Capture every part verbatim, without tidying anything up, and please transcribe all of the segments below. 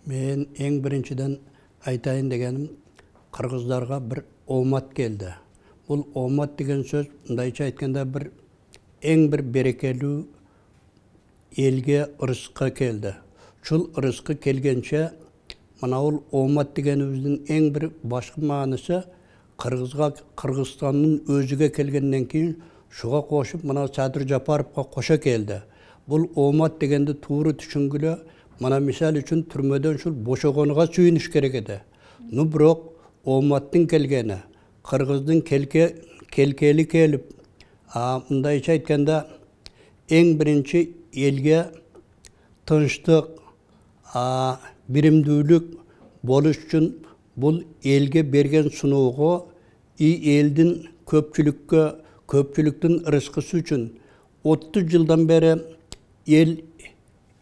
Мен eң биринчиден айтайын дегеним, кыргыздарга bir оомат келди. Бул оомат деген сөз, мындайча айтканда, bir eң bir берекелүү элге ырыскы келди. Шул ырыскы келгенче, мына бул оомат дегенибиздин eң bir башкы маанысы Кыргызга, Кыргызстандын өзүгө келгенден кийин шуга кошуп, мына Садыр Жапаровго кошо келди. Бул оомат дегенди туура түшүнгүлө, мына мисал үчүн түрмөдөн ушул бошогонуга сүйүнүш керек эди. Ну бирок ооматтын келгени, Кыргыздын келке келкели келип, а мындайча айтканда, эң биринчи элге тынчтык, а биримдүүлүк болуш үчүн бул элге берген суноого и элдин көпчүлүккө, көпчүлүктүн ырыскысы үчүн отуз жылдан бери эл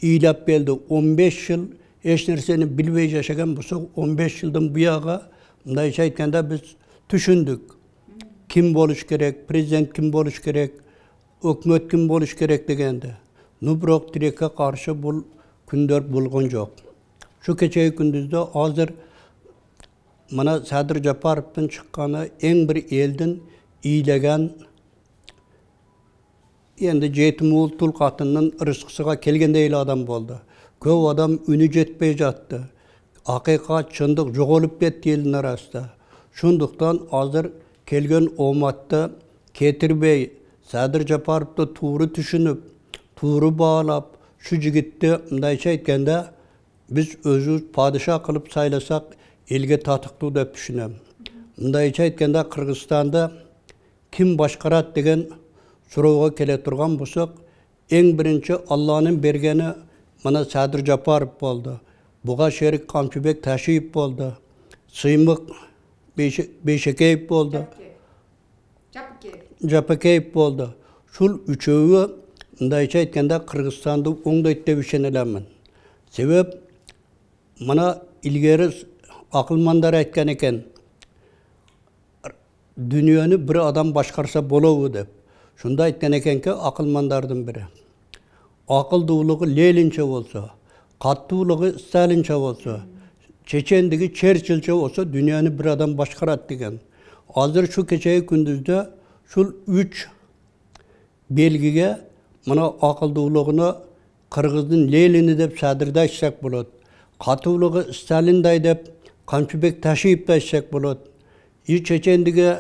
ыйлап келди. он беш жыл эч нерсени билбей жашаган болсок, он беш жылдан буяга мындайча айтканда биз түшүндүк. Ким болуш керек, президент ким болуш керек, өкмөт ким болуш керек дегенди. Ну бирок тилекке каршы бул күндөр болгон жок. Şu keçеги күндүздө азыр мына Садыр Жапаровдун чыкканы эң бир элдин ыйлеген, енді жетим уул тул катынын ырыскысыга келгендей эле адам болду. Көп адам үнү жетпей жатты. Акыйкат, чындык жоголуп кетти элдин арасында. Шундуктан азыр келген ооматты кетирбей, Садыр Жапаровду тууру түшүнүп, тууру баалап, шу жигитти мындайча айтканда биз өзүбүз падыша кылып сайласак, элге татыктуу деп түшүнөм. Мындайча айтканда Кыргызстанды ким башкарат деген суроого келе турган болсок, эң биринчи Алланын бергени мына Садыр Жапаров болду. Буга шерик Камчыбек Ташиев болду. Сыймык Бейшекеев болду. Жапакеев болду. Шул үчөөү мындайча айтканда Кыргызстанды оңдойт деп ишенелемин. Себеп мына илгери акылмандар айткан экен, дүйнөнү бир адам башкарса болобу деп. Шунда айткан экенки акылмандардын бири. Акылдуулугу Ленинче болсо, каттуулугу Сталинче болсо, чечендиги Черчилльче болсо, дүйнөнү бир адам башкарат деген. Азыр шу кечеги күндүздө шул үч белгиге мына акылдуулугуну Кыргыздын Ленини деп Садырды айтсак болот. Каттуулугу Сталиндай деп Камчыбек Ташиевди айтсак болот. И чечендиги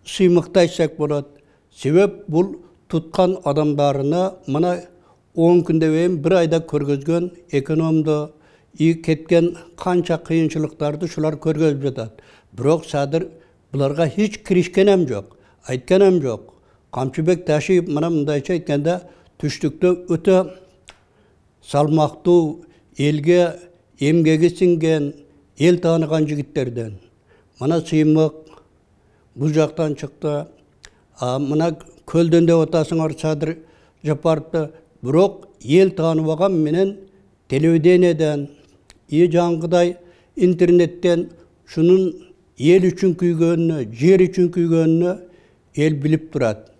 Сыймыкты айтсак болот. Себеп бул туткан адамдарына мына он күндөн кийин бир айда көргөзгөн экономду, и кеткен канча кыйынчылыктарды шулар көргөзүп жатат. Бирок Садыр буларга hiç киришкенем жок, айтканем жок. Камчыбек Ташиев мына мындайча айтканда түштүктө өтө салмактуу, элге эмгеги сиңген, эл тааныган жигиттерден. Мына Сыймык бул жактан чыкты. А мына көлдөн деп атасыңар Садыр Жапаровду, бирок эл тааныбаган менен телевидениеден, и жаңгыдай интернеттен шунун эл үчүн күйгөнүнө, жер үчүн күйгөнүнө эл билип турат.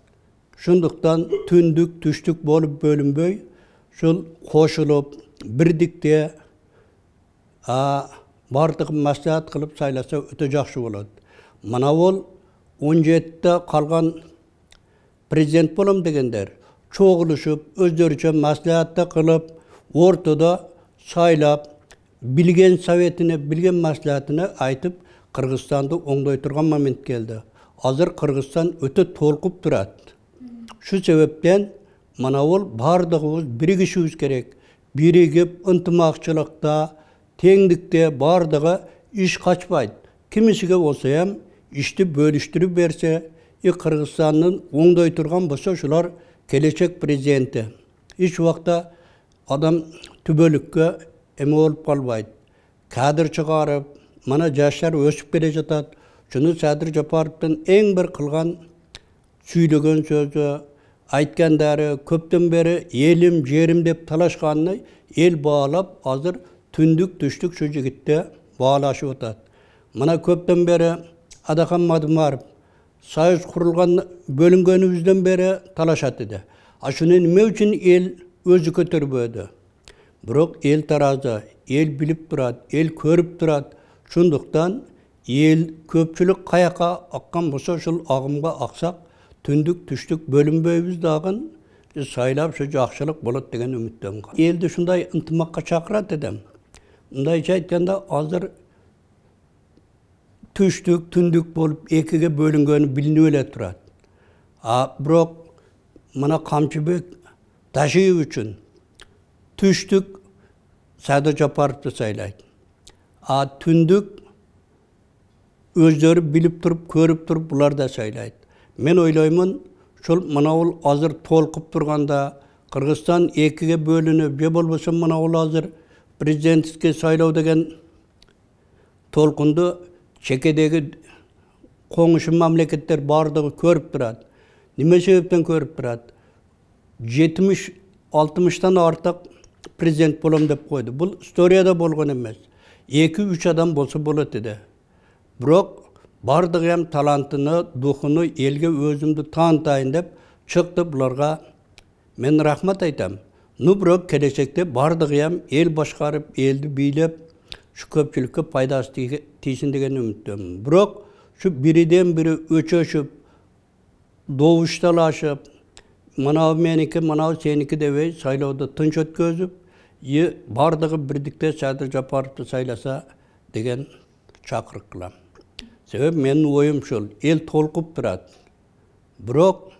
Шундуктан түндүк, түштүк болуп бөлүнбөй, шул кошулуп, бирдикте а бардыгын маслихат кылып сайласа өтө жакшы болот. Мына бул он жетиде калган президент болом дегендер чогулушуп, өздөрүчө маслихатты кылып, ортодо сайлап, билген советине, билген маслихатына айтып, Кыргызстанды оңдой турган момент келди. Азыр Кыргызстан өтө толкуп турат. Шу себептен мына бул бардыгыбыз биригишибиз керек. Биригип, ынтымакчылыкта, теңдикте бардыгы иш качпайт. Кимисиге болсо эм ишти бөлүштүрүп берсе, и Кыргызстандын оңдой турган болсо, шулар келечек президенти. Эч убакта адам түбөлүккө эме болуп калбайт. Кадр чыгарып, мына жаштар өсүп келе жатат. Шуну Садыр Жапаровдун эң бир кылган сүйлөгөн сөзү, айткандары, көптөн бери элим, жерим деп талашканын эл баалап, азыр түндүк, түштүк шу жигитте баалашып атат. Мына көптөн бери Адахан Мадымаров Союз курулган бөлүнгөнүбүздөн бери талашат эди. А шуну эмне үчүн эл өзү көтөрбөдү? Бирок эл таразы, эл билип турат, эл көрүп турат. Шундуктан эл көпчүлүк каяка аккан болсо ошол агымга аксак, түндүк түштүк бөлүнбөйбүз дагы сайлап ушу жакшылык болот деген үмүттөмүн. Элди шундай ынтымакка чакырат эдем. Мындайча айтканда азыр түштүк, түндүк болуп экиге бөлүнгөнү билинип эле турат. А бирок мына Камчыбек Ташиев үчүн түштүк Садыр Жапаровду сайлайт. А түндүк өздөрү билип туруп, көрүп туруп булар да сайлайт. Мен ойлоймун, ушул мынабул азыр толкуп турганда Кыргызстан экиге бөлүнүп, же болбосо мынабул азыр президенттикке сайлоо деген толкунду чекедеги коңушу мамлекеттер бардыгы көрүп турат. Неме себептен көрүп турат? жетимиш алтымыштан артык президент болом деп койду. Бул историяда болгон эмес. эки үч адам болсо болот эди. Бирок бардыгы эм талантыны, духуну элге өзүмдү таанытайын деп чыкты. Буларга мен рахмат айтам. Ну бирок келечекте бардыгы эм эл башкарып, элди бийлеп, ушу көпчүлүккө пайдасы тийсин деген үмүттөмүн. Бирок ушу бириден бири өчөшүп, добушталашып, мынау меники, мынау сеники дебей сайлоодо тынч өткөзүп, и бардыгы бирдикте Садыр Жапаровду сайласа деген чакырык кылам. Себеби менин оюм ушул, эл толкуп турат. Бирок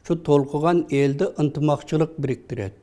ушу толкуган элди ынтымакчылык бириктирет.